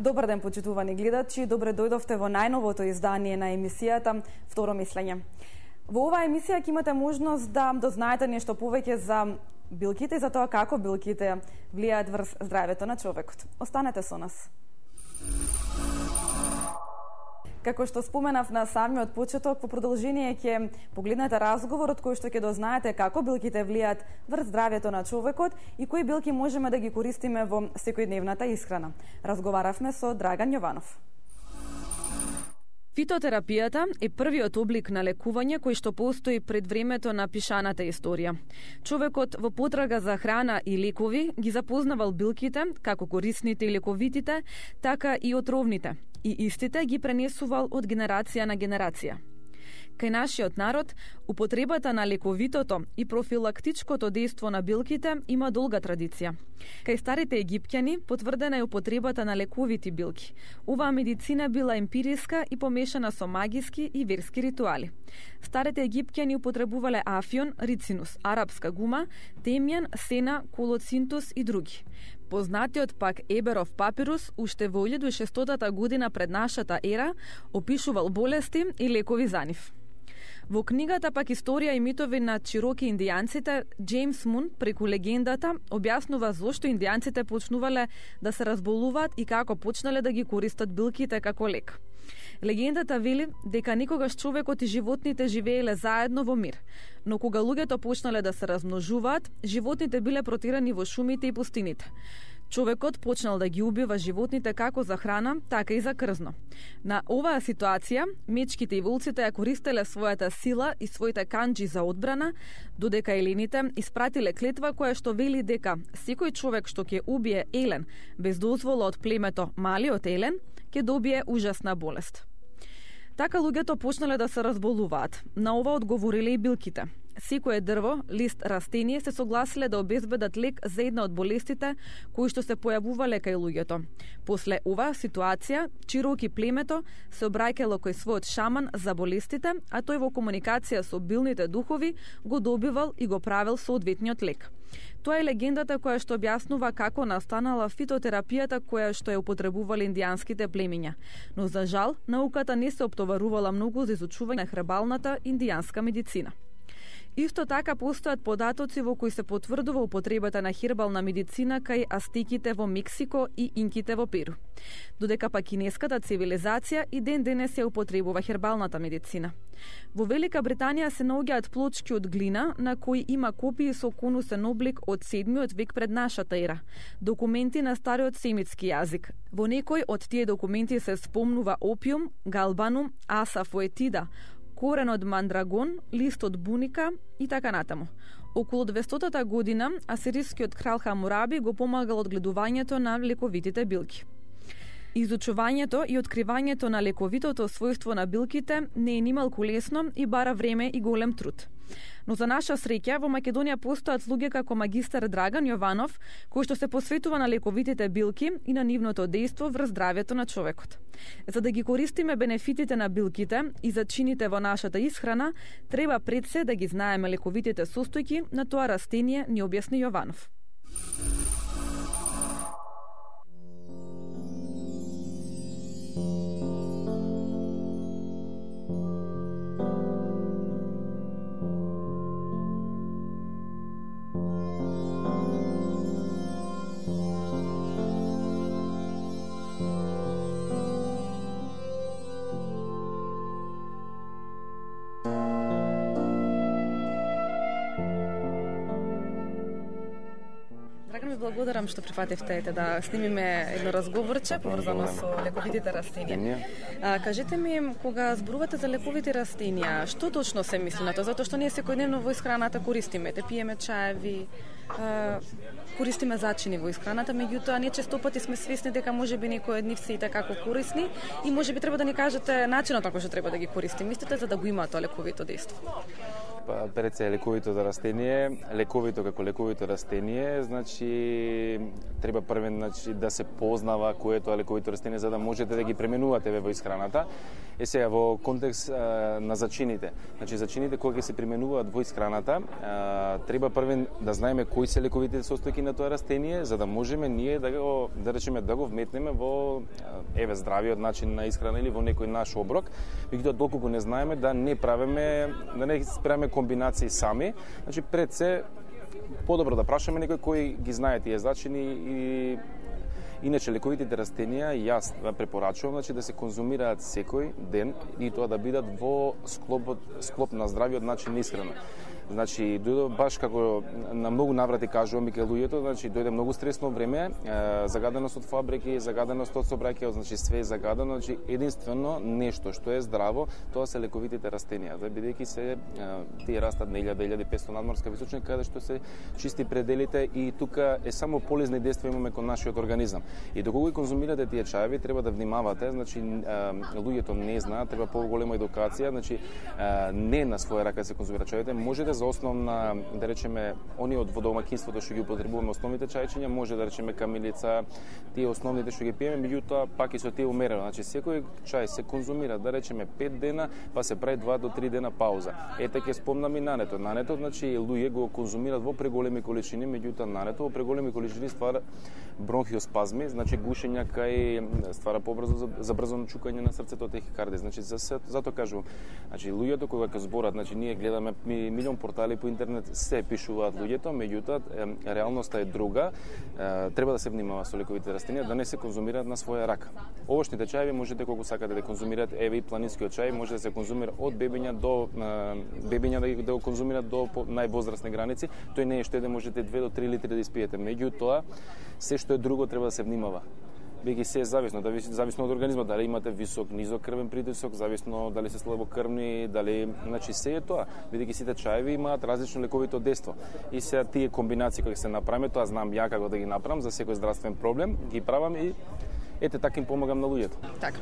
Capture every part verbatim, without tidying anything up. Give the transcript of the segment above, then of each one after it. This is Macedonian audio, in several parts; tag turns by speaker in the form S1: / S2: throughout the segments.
S1: Добар ден, почитувани гледачи, добре дојдовте во најновото издание на емисијата Второ мислење. Во оваа емисија ќе имате можност да дознаете нешто повеќе за билките и за тоа како билките влијаат врз здравјето на човекот. Останете со нас. Како што споменав на самиот почеток, во продолжение ќе погледнете разговорот кој што ќе дознаете како билките влијаат врз здравјето на човекот и кои билки можеме да ги користиме во секојдневната исхрана. Разговаравме со Драган Јованов. Фитотерапијата е првиот облик на лекување кој што постои пред времето на пишаната историја. Човекот во потрага за храна и лекови ги запознавал билките, како корисните и лековитите, така и отровните, и истите ги пренесувал од генерација на генерација. Кај нашиот народ, употребата на лековитото и профилактичкото дејство на билките има долга традиција. Кај старите египтјани потврдена е употребата на лековити билки. Оваа медицина била емпириска и помешана со магиски и верски ритуали. Старите египтјани употребувале афион, рицинус, арапска гума, темјан, сена, колоцинтус и други. Познатиот пак Еберов папирус уште во илјада и шестстотата година пред нашата ера опишувал болести и лекови за нив. Во книгата пак Историја и митови на чироки индијанците, Джеймс Мун преку легендата објаснува зошто индијанците почнувале да се разболуваат и како почнале да ги користат билките како лек. Легендата вели дека никогаш човекот и животните живееле заедно во мир, но кога луѓето почнале да се размножуваат, животните биле протерани во шумите и пустините. Човекот почнал да ги убива животните како за храна, така и за крзно. На оваа ситуација, мечките и волците ја користеле својата сила и своите канџи за одбрана, додека елените испратиле клетва која што вели дека секој човек што ќе убие елен без дозвола од племето малиот елен, ќе добие ужасна болест. Така луѓето почнале да се разболуваат. На ова одговориле и билките. Секое дрво, лист, растение се согласиле да обезбедат лек за една од болестите кои што се појавувале кај луѓето. После оваа ситуација, чироки племето се обраќало кој својот шаман за болестите, а тој во комуникација со билните духови го добивал и го правил соодветниот лек. Тоа е легендата која што објаснува како настанала фитотерапијата која што ја употребувале индијанските племиња. Но за жал, науката не се оптоварувала многу за изучување на хербалната индијанска медицина. Исто така постојат податоци во кои се потврдува употребата на хербална медицина кај астиките во Мексико и инките во Перу. Додека па кинеската цивилизација и ден денес ја употребува хербалната медицина. Во Велика Британија се наоѓаат плочки од глина на кои има копии со конусен облик од седмиот век пред нашата ера, документи на стариот семитски јазик. Во некој од тие документи се спомнува опиум, галбанум, асафоетида, корен од мандрагон, лист од буника и така натаму. Околу двестотата година асирискиот крал Хамураби го помагал одгледувањето на лековитите билки. Изучувањето и откривањето на лековитото својство на билките не е нималку лесно и бара време и голем труд. Но за наша среќа во Македонија постојат луѓе како магистар Драган Јованов, кој што се посветува на лековитите билки и на нивното дејство врз здравјето на човекот. За да ги користиме бенефитите на билките и зачините во нашата исхрана, треба пред се да ги знаеме лековитите состојки на тоа растение, ни објасни Јованов. Благодарам што прифативте да снимиме едно разговорче поврзано со лековитите растенија. А, кажете ми, кога зборувате за лековити растенија, што точно се мисли на тоа? Затоа што ние секојдневно во исхраната користиме, те пиеме чаеви, а, користиме зачини во исхраната, меѓутоа ние често пати сме свесни дека можеби некои од нив се и така корисни и можеби треба да ни кажете начинот на кој што треба да ги користиме истите за да го има тоа лековито дејство.
S2: Па пред се лековито за растение, лековито како лековито растение, значи треба првен значи да се познава кое е тоа лековито растение за да можете да ги пременувате во исхраната. Е сега во контекст а, на зачините. Значи зачините кога ќе се применуваат во исхраната, а, треба првен да знаеме кои се лековите состојки на тоа растение за да можеме ние да го да речеме да го вметнеме во еве здравиот начин на исхрана или во некој наш оброк. Меѓутоа доколку не знаеме да не правиме да не правиме комбинации сами, значи пред се подобро да прашаме некој кој ги знае тие зачини и иначе лековитите растенија јас препорачувам значи да се конзумираат секој ден и тоа да бидат во склоп склоп на здравиот начин на исхрана. Значи, дојде баш како на многу наврати кажувам и кај луѓето, значи дојде многу стресно време, е, загаденост од фабрики, загаденост од сообраќај, значи све е загадено, значи единствено нешто што е здраво, тоа се лековитите растенија. Да бидејќи се е, тие растат на илјада до илјада и петстотини надморска височина каде што се чисти пределите и тука е само полезни дејства имаме кон нашиот организам. И доколку ги конзумирате тие чаеви, треба да внимавате, значи луѓето не знаат, треба поголема едукација, значи не на своја рака се конзумира чаевите, можете за основна, да речеме, они од водомакинството што ги употребуваме основните чајчиња, може да речеме камилица, тие основните што ги пиеме, меѓутоа пак и со тие умерено. Значи секој чај се конзумира, да речеме пет дена, па се прави два до три дена пауза. Ете ќе спомнам и нането. Нането, значи луѓе го конзумираат во преголеми количини, меѓутоа нането во преголеми количини ствара бронхиоспазми, значи гушења кај ствара побрзо забрзано чукање на срцето, тахикардија. Значи за затоа кажувам, значи луѓето кога ќе зборат, значи ние гледаме милион портали по интернет се пишуваат луѓето, меѓутоа реалноста е друга. Е, треба да се внимава со лековите растенија да не се конзумираат на своја рака. Овошните чаеви можете колку сакате да конзумирате, еве и планинскиот чај може да се конзумира од бебиња до бебиња да, да го конзумираат до највозрастни граници. Тој не е што да можете две до три литри да испиете. Меѓутоа се што е друго треба да се внимава. Беги се е зависно, да зависно од организмот, дали имате висок, низок крвен притисок, зависно дали се слабокрвни, дали, значи се е тоа. Бидејќи сите чаеви имаат различно лековито дејство. И се тие комбинации кои се направиме, тоа знам ја како да ги направам за секој здравствен проблем, ги правам и ете така им помагам на луѓето.
S1: Така.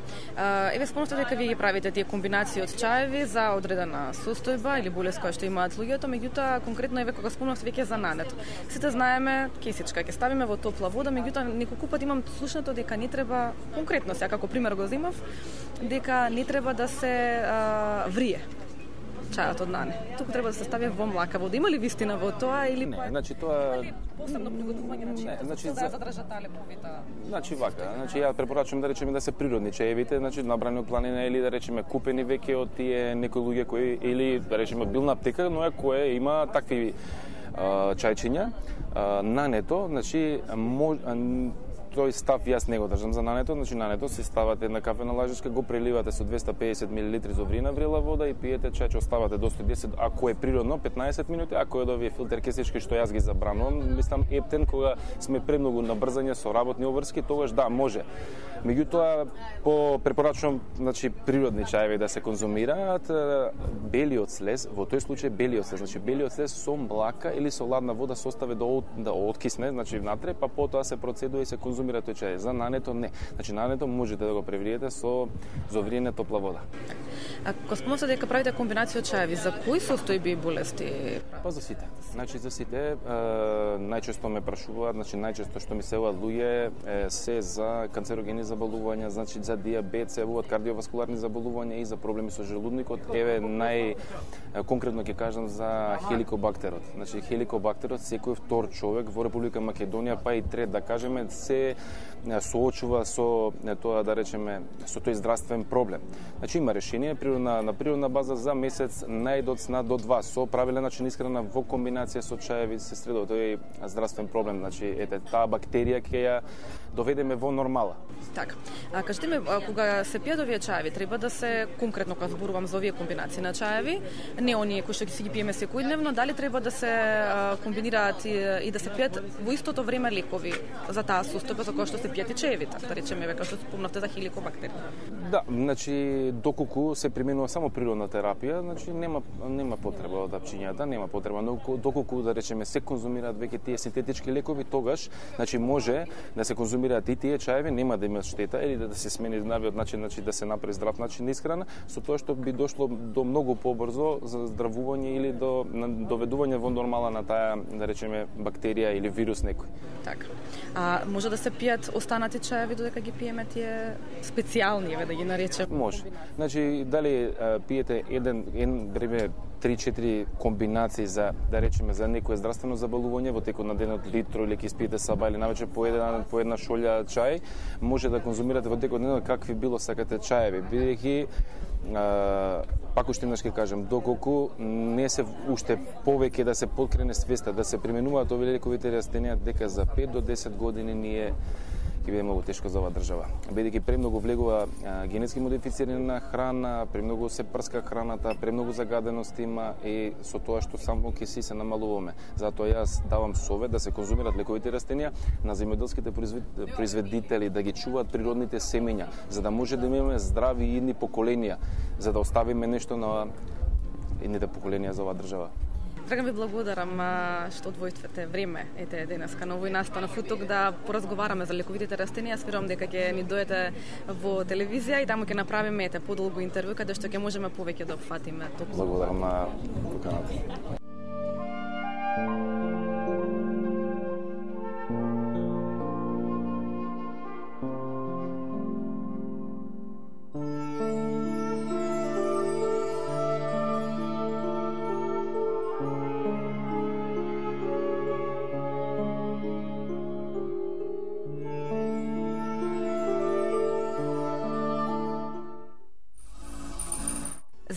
S1: Еве спомнавте дека вие ги правите тие комбинации од чаеви за одредена состојба или болест која што имаат луѓето, меѓутоа конкретно еве кога спомнавте веќе за нането. Сите знаеме кесичка ќе ставиме во топла вода, меѓутоа неколку пати имам слушнато дека не треба конкретно сега како пример го земав, дека не треба да се а, врие чајот од нане. Туку треба да се стави во млака вода. Има ли вистина во тоа или
S2: не? Значи тоа
S1: посебно приготување на чај.
S2: Значи
S1: за да задржат таа леповита.
S2: Значи вака, значи ја препорачувам да речеме да се природни чаевите, значи набрани од планина или да речеме купени веќе од тие некои луѓе кои или да речеме од билна аптека, но е кое има такви а, чајчиња. А, нането, значи мож, а, тој став јас не го држам за нането, значи нането се ставате една кафена лажичка, го преливате со двесте и педесет милилитри зобрина врела вода и пиете чај, оставате до сто и десет, ако е природно петнаесет минути, ако е од овие филтер кесички што јас ги забранувам, мислам ептен кога сме премногу на брзање со работни обврски, тогаш да, може. Меѓутоа, по препорачувам, значи природни чаеви да се конзумираат, белиот слез, во тој случај белиот слез, значи белиот слез со млака или со ладна вода се остави да, да откисне, значи внатре, па потоа се процедува и се конзумира тој чај. За нането не. Значи нането можете да го превриете со зовриена топла вода.
S1: А кога спомнавте дека правите комбинација чаеви, за кои состојби и болести?
S2: Па за сите. Значи за сите, е, најчесто ме прашуваат, значи најчесто што ми се јавуваат луѓе е се за канцерогени заболувања, значи за диабет, се јавуваат кардиоваскуларни заболувања и за проблеми со желудникот. Еве нај конкретно ќе кажам за хеликобактерот. Значи хеликобактерот секој втор човек во Република Македонија, па и трет да кажеме, се соочува со тоа да речеме со тој здравствен проблем. Значи има решение природна на природна база за месец најдоцна до два со правилен начин исхрана во комбинација со чаеви се средува тој здравствен проблем. Значи ете таа бактерија ќе ја доведеме во нормала.
S1: Така. А кажете ми, кога се пијат овие чаеви, треба да се конкретно кога зборувам за овие комбинации на чаеви, не оние кои што ги си ги пиеме секојдневно, дали треба да се комбинираат и, и да се пијат во истото време лекови за таа состојба за која што се пијат и чаевите, да речеме веќе што спомнавте за хеликобактери.
S2: Да, значи доколку се применува само природна терапија, значи нема нема потреба од апчињата, нема потреба, но доколку да речеме се конзумираат веќе тие синтетички лекови, тогаш значи може да се конзумираат и тие чаеви, нема да има штета или да се смени навиот начин, значи да се направи здрав начин на исхрана, со тоа што би дошло до многу побрзо за здравување или до доведување во нормала на таа, да речеме, бактерија или вирус некој.
S1: Така. А може да се пијат останати чаеви додека ги пиеме тие специјални, да ги наречем?
S2: Може. Значи, дали а, пиете еден, еден време три-четири комбинации за, да речеме, за некое здравствено заболување во текот на денот, литро или ќе спиете саба или навечер по една, по една шолја чај, може да конзумирате во текот на денот какви било сакате чаеви, бидејќи пак уште еднаш ќе кажам, доколку не се уште повеќе да се подкрене свеста, да се применуваат овие лековите растенија, дека за пет до десет години ние ќе биде многу тешко за оваа држава. Бидејќи премногу влегува а, генетски модифицирана храна, премногу се прска храната, премногу загаденост има и со тоа што само ќе си се намалуваме. Затоа јас давам совет да се конзумират лековите растенија на земјоделските производители, да ги чуваат природните семења, за да може да имаме здрави идни поколенија, за да оставиме нешто на идните поколенија за оваа држава.
S1: Драган ви благодарам што одвојствате време ете денеска на овој настанов тук да поразговараме за лековитите растенија. Јас верувам дека ќе ни дојдете во телевизија и таму ќе направиме ете подолго интервју каде што ќе можеме повеќе да опфатиме токму.
S2: Благодарам на поканата.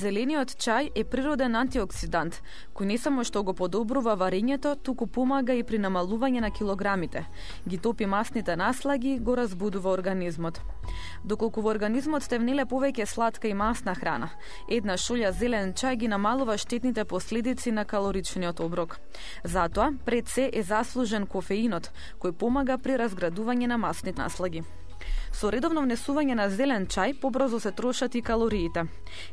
S1: Зелениот чај е природен антиоксидант, кој не само што го подобрува варењето, туку помага и при намалување на килограмите. Ги топи масните наслаги, го разбудува организмот. Доколку во организмот сте внеле повеќе сладка и масна храна, една шолја зелен чај ги намалува штетните последици на калоричниот оброк. Затоа, пред се е заслужен кофеинот, кој помага при разградување на масните наслаги. Со редовно внесување на зелен чај побрзо се трошат и калориите.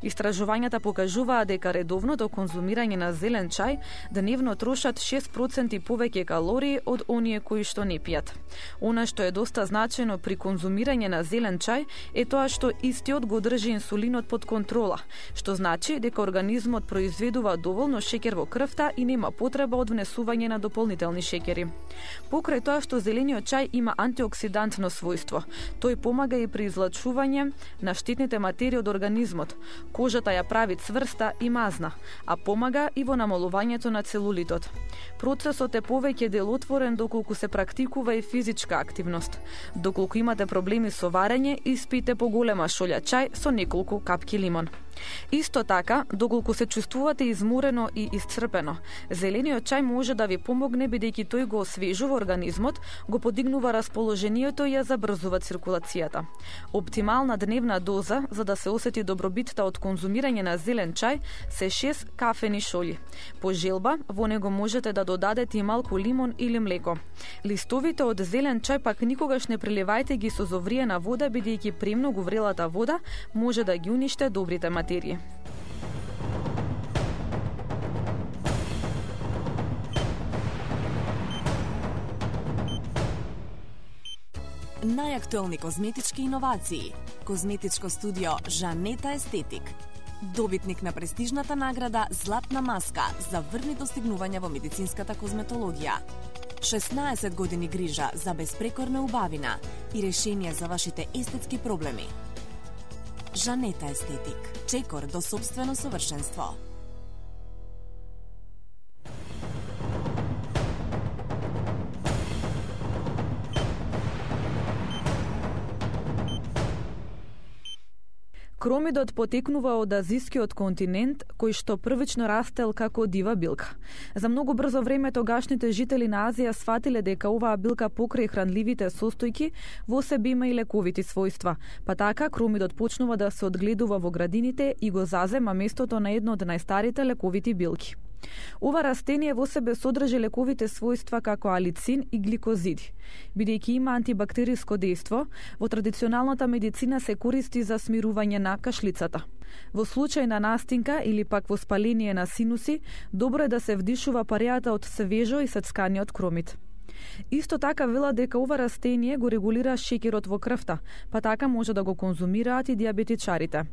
S1: Истражувањата покажуваат дека редовното конзумирање на зелен чај дневно трошат шест проценти повеќе калории од оние кои што не пијат. Она што е доста значајно при конзумирање на зелен чај е тоа што истиот го држи инсулинот под контрола, што значи дека организмот произведува доволно шеќер во крвта и нема потреба од внесување на дополнителни шеќери. Покрај тоа што зелениот чај има антиоксидантно својство, тој помага и при излачување на штетните материи од организмот. Кожата ја прави цврста и мазна, а помага и во намалувањето на целулитот. Процесот е повеќе делотворен доколку се практикува и физичка активност. Доколку имате проблеми со варење, испите поголема шолја чај со неколку капки лимон. Исто така, доколку се чувствувате изморено и исцрпено, зелениот чај може да ви помогне бидејќи тој го освежува организмот, го подигнува расположението и ја забрзува циркулацијата. Оптимална дневна доза за да се осети добробитта од конзумирање на зелен чај се шест кафени шолји. По желба, во него можете да додадете и малку лимон или млеко. Листовите од зелен чај пак никогаш не преливајте ги со зовриена вода бидејќи премногу врелата вода може да ги униште добрите материи.
S3: Најактуелни козметички иновации. Козметичко студио Жанета Естетик. Добитник на престижната награда Златна маска за врни достигнувања во медицинската козметологија. шеснаесет години грижа за безпрекорна убавина и решение за вашите естетски проблеми. Жанета Естетик. Чекор до собствено совршенство.
S1: Кромидот потекнува од азискиот континент, кој што првично растел како дива билка. За многу брзо време тогашните жители на Азија сфатиле дека оваа билка покрај хранливите состојки во себе има и лековити својства, па така кромидот почнува да се одгледува во градините и го зазема местото на едно од најстарите лековити билки. Ова растение во себе содржи лековите својства како алицин и гликозиди. Бидејќи има антибактериско дејство, во традиционалната медицина се користи за смирување на кашлицата. Во случај на настинка или пак во спаление на синуси, добро е да се вдишува пареата од свежо и сецканиот кромит. Исто така велат дека ова растение го регулира шеќерот во крвта, па така може да го конзумираат и диабетичарите.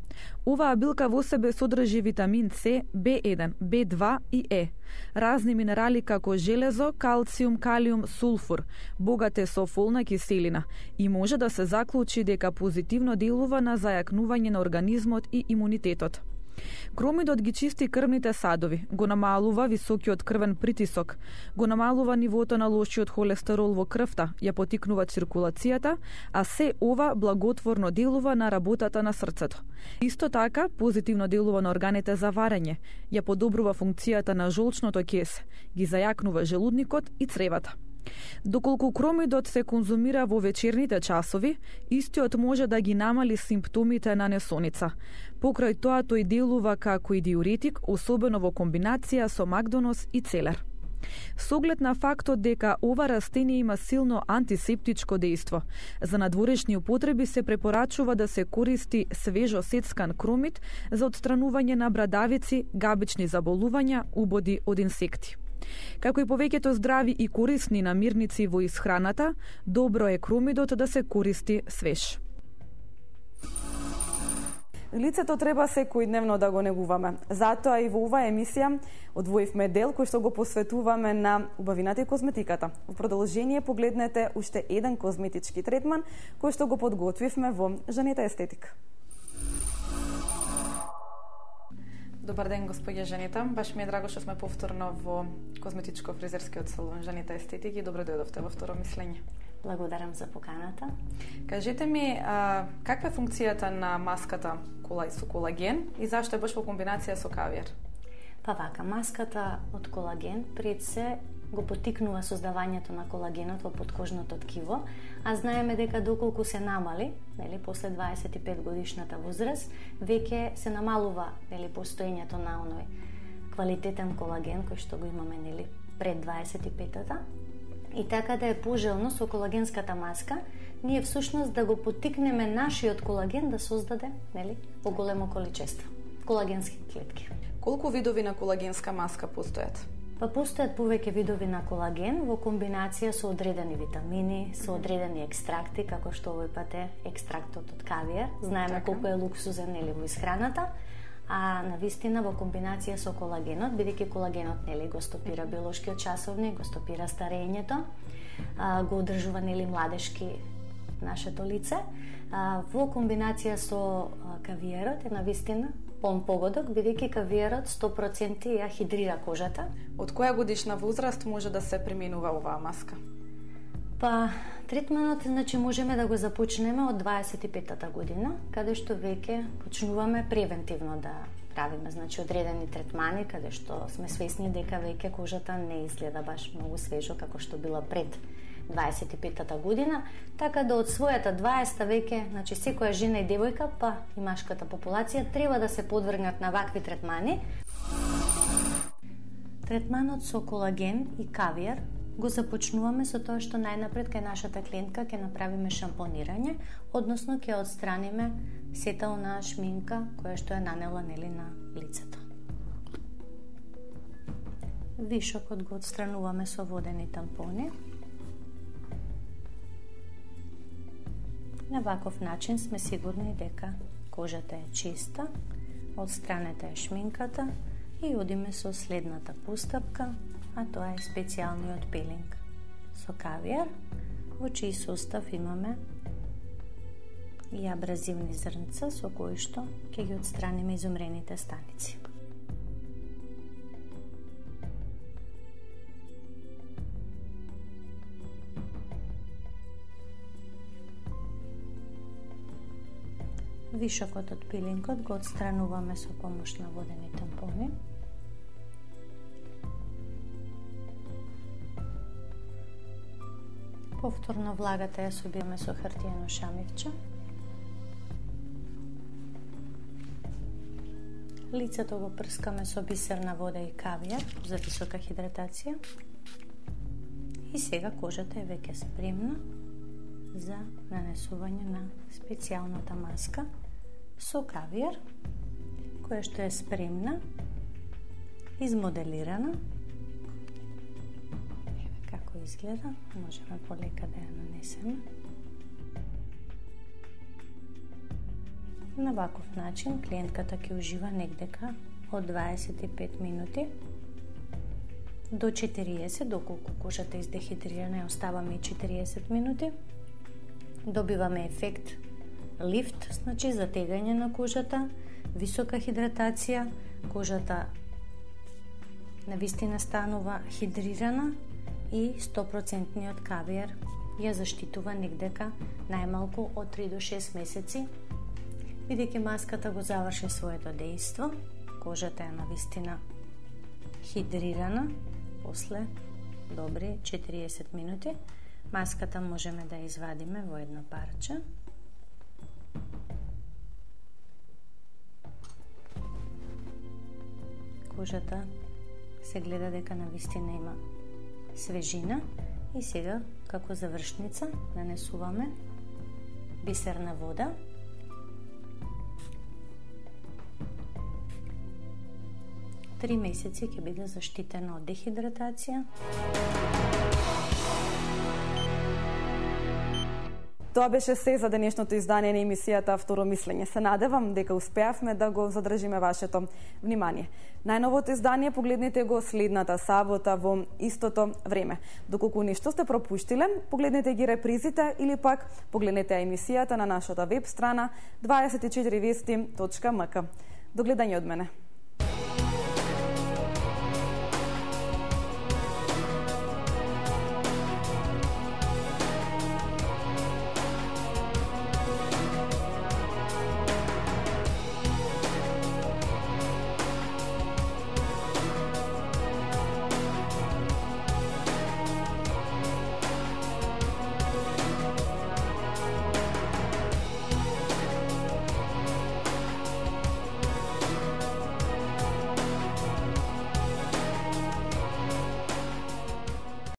S1: Оваа билка во себе содржи витамин С, Б еден, Б два и Е. Разни минерали како железо, калциум, калиум, сулфур, богат е со фолна киселина и може да се заклучи дека позитивно делува на зајакнување на организмот и имунитетот. Кромидот ги чисти крвните садови, го намалува високиот крвен притисок, го намалува нивото на лошиот холестерол во крвта, ја потикнува циркулацијата, а се ова благотворно делува на работата на срцето. Исто така, позитивно делува на органите за варење, ја подобрува функцијата на жолчното кесе, ги зајакнува желудникот и цревата. Доколку кромидот се конзумира во вечерните часови, истиот може да ги намали симптомите на несоница. Покрај тоа тој делува како и диуретик, особено во комбинација со магдонос и целер. Со оглед на фактот дека ова растение има силно антисептичко дејство, за надворешни употреби се препорачува да се користи свежо сецкан кромид за отстранување на брадавици, габични заболувања, убоди од инсекти. Како и повеќето здрави и корисни намирници во исхраната, добро е кромидот да се користи свеж. Лицето треба секојдневно да го негуваме. Затоа и во оваа емисија одвоивме дел кој што го посветуваме на убавината и козметиката. Во продолжение погледнете уште еден козметички третман кој што го подготвивме во Жанета Естетик. Добар ден, господја Жанета. Баш ми е драго што сме повторно во козметичко-фризерскиот салон Жанета Естетик и добро дојдовте во второ мислење.
S4: Благодарам за поканата.
S1: Кажете ми, а, каква е функцијата на маската кола со колаген и зашто е баш во комбинација со кавијар?
S4: Па вака, маската од колаген пред се го потикнува создавањето на колагенот во подкожното ткиво, а знаеме дека доколку се намали, нели, после дваесет и пет годишната возраст, веќе се намалува, нели, постоењето на оној квалитетен колаген кој што го имаме, нели, пред дваесет и петата. И така да е пожелно со колагенската маска, ние всушност да го потикнеме нашиот колаген да создаде, нели, во големо количество колагенски клетки.
S1: Колку видови на колагенска маска постојат?
S4: Па постојат повеќе видови на колаген во комбинација со одредени витамини, со одредени екстракти, како што овој пат е екстрактот од кавијар. Знаеме така колку е луксузен, нели, во исхраната, а навистина во комбинација со колагенот, бидејќи колагенот, нели, го стопира биолошкиот часовник, го стопира старењето, го одржува, нели, младешки нашето лице, во комбинација со кавијарот е навистина пон погодок, бидејќи кавијарот сто проценти ја хидрира кожата.
S1: Од која годишна возраст може да се применува оваа маска?
S4: Па, третманот, значи, можеме да го започнеме од дваесет и петата година, каде што веќе почнуваме превентивно да правиме, значи, одредени третмани, каде што сме свесни дека веќе кожата не изгледа баш многу свежо како што била пред дваесет и петата година, така да од својата дваесета веќе, значи, секоја жена и девојка, па и машката популација треба да се подвргнат на вакви третмани. Третманот со колаген и кавијар го започнуваме со тоа што најнапред кај нашата клиентка ќе направиме шампонирање, односно ќе отстраниме сета онаа шминка која што е нанела, нели, на лицето. Вишокот го отстрануваме со водени тампони. На ваков начин сме сигурни дека кожата е чиста, отстранета е шминката и одиме со следната постапка, а тоа е специјалниот пилинг со кавијар, во чиј состав имаме и абразивни зрнца со кои што ќе ги отстраниме изумрените станици. Вишокот од пилингот го отстрануваме со помош на водени тампони. Повторно влагата ја собираме со хартиено шамивче. Лицето го прскаме со бисерна вода и кавијар за висока хидратација. И сега кожата е веќе спремна за нанесување на специјалната маска со кавијар, која што е спремна, измоделирана, како како изгледа, можеме полека да ја нанесеме. На ваков начин клиентката ќе ужива негдека од дваесет и пет минути до четириесет, доколку кожата е издехидрирана, ја оставаме и четириесет минути. Добиваме ефект лифт, значи затегање на кожата, висока хидратација, кожата навистина станува хидрирана и сто проценти кавиер ја заштитува негдека најмалку од три до шест месеци. Бидејќи маската го заврши своето дејство, кожата е навистина хидрирана, после добри четириесет минути, маската можеме да извадиме во едно парче. Кожата се гледа дека навистина има свежина и сега како завршница нанесуваме бисерна вода. Три месеци ќе биде заштитена од дехидратација.
S1: Тоа беше се за денешното издание на емисијата Второ мислење. Се надевам дека успеавме да го задржиме вашето внимание. Најновото издание погледнете го следната сабота во истото време. Доколку нешто сте пропуштиле, погледнете ги репризите или пак погледнете емисијата на нашата веб страна дваесет и четири вести точка ем ка. До гледање од мене.